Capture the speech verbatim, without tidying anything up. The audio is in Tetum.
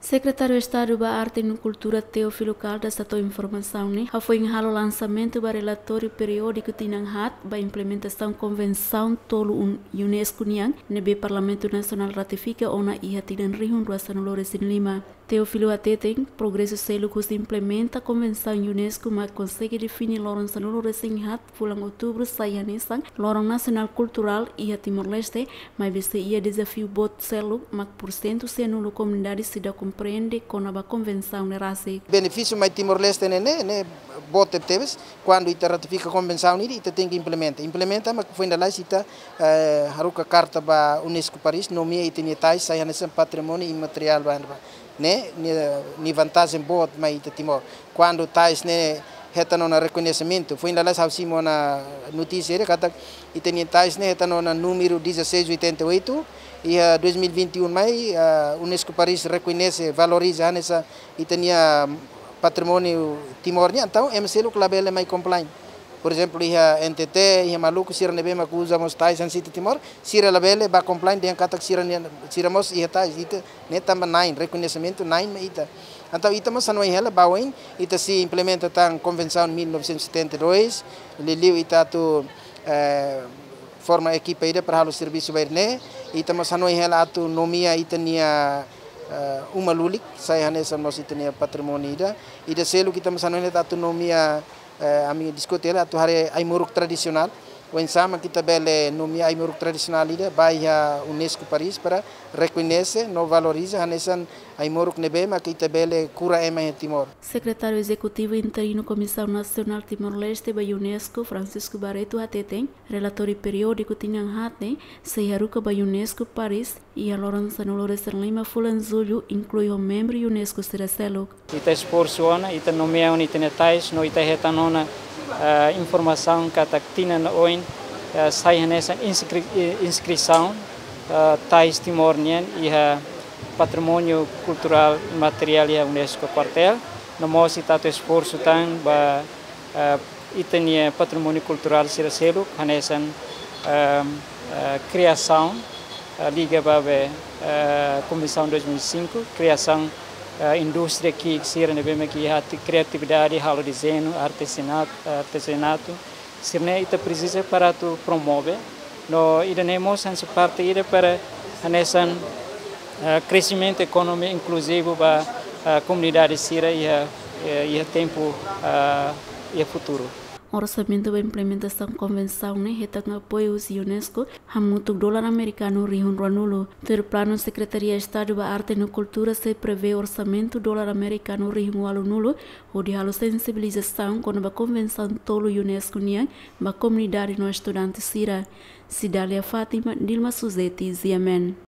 Sekretáriu Estadu ba Arte no Kultura, Teófilo Caldas, hato'o informasaun ne'e hafoin halo lansamentu ba relatóriu periódiku tinan haat ba implementasaun Konvensaun tolu un UNESCO nian, ne'ebé Parlamentu Nasionál ratifika ona iha tinan rihun rua sanulu resin lima. Teófilo hateten, progresu seluk husi implementa Konvensaun UNESCO mak konsege define loron sanulu resin haat fulan Outubru sai hanesan Loron Nasionál Kulturál iha Timor-Leste, maibé sei iha dezafiu boot seluk, mak pursentu sianulu komunidade seidauk komprende kona-ba konvensaun ne'e rasik. Benefísiu mai Timor-Leste ne'e, ne'e, ne'e boot tebetebes, kuandu ita ratifika konvensaun ne'e, ita tenke implementa. Implementa, mak foin lalais ita, eh, haruka karta ba UNESCO Paris, nomeia ita-nia tais sai hanesan patrimóniu imateriál ba, ba. Ne'e, nia, nia vantajen boot mai ita Timor. Kuandu tais ne'e hetan ona rekoñesimentu. Foin lalais ha'u simu ona notísia ida katak ita-nia tais ne'e hetan ona númeru dezasseis oitenta e oito, iha dois mil e vinte e um mai, ah, UNESCO Paris rekoñese, valoriza hanesan ita-nia patrimóniu Timor nian, entaun ema seluk labele mai complain. Por ezemplu, iha N T T, iha Maluku, sira ne'ebé mak uza mós tais hanesan ita Timor, sira labele bá complain dehan katak sira-nia, sira mós iha tais, ita ne'e tanba na'in, rekoñesimentu na'in mai ita. Entaun ita mós hanoin hela ba oin, ita sei implementa tan Konvensaun mil novecentos e setenta e dois, liuliu ita atu, eh, forma ekipa ida para halo servisu ba ida-ne'e, ita mós hanoin hela atu nomeia ita-nia, eh, uma lulik, sai hanesan mós ita-nia patrimóniu ida, ida seluk ita mós hanoin hela atu nomeia, eh, ami diskute hela atu haree ai-moruk tradisionál, oinsá mak ita bele nomeia ai-moruk tradisionál ida ba iha UNESCO Paris para rekoñese no valoriza hanesan ai-moruk ne'ebé mak ita bele kura ema iha Timor. Sekretáriu Ezekutivu Interinu Komisaun Nasionál Timor-Leste ba UNESCO, Francisco Barreto, hateten, relatóriu periódiku tinan haat ne'e sei haruka ba UNESCO Paris iha loron sanulu resin lima fulan Jullu, inklui ho membru UNESCO sira seluk. Ita esforsu ona, ita nomeia ona ita-nia tais, no ita hetan ona, eh, informasaun katak tinan oin, eh, sai hanesan inskri-, eh, inskrisaun, eh, tais Timor nian iha patrimóniu kulturál imateriál iha UNESCO kuartél. No mós ita atu esforsu tan ba, eh, ita-nia patrimóniu kulturál sira seluk, hanesan, eh, eh, kriasaun, eh, liga ba be, eh, Konvensaun dois mil e cinco, kriasaun, eh, indústria ki'ik sira ne'ebé mak iha ati-, kriatividade, halo dezeñu, artesanat-, artezanatu, sira-ne'e ita presiza para atu promove. No ida-ne'e mós hanesan parte ida para hanesan, eh, kresimentu ekonomia inkluzivu ba, eh, komunidade sira iha, eh, iha tempu, eh, iha futuru. Orsamentu ba implementasaun konvensaun ne'e hetan apoiu husi UNESCO hamutuk dolar amerikanu rihun ruanulu. Tuir planu, Sekretaria Estadu ba Arte no Kultura sei prevee orsamentu dolar amerikanu rihun ualunulu, hodi halo sensibilizasaun kona-ba konvensaun tolu UNESCO nian ba komunidade no estudante sira. Cidália Fátima, Dilma Suzeti, G M N.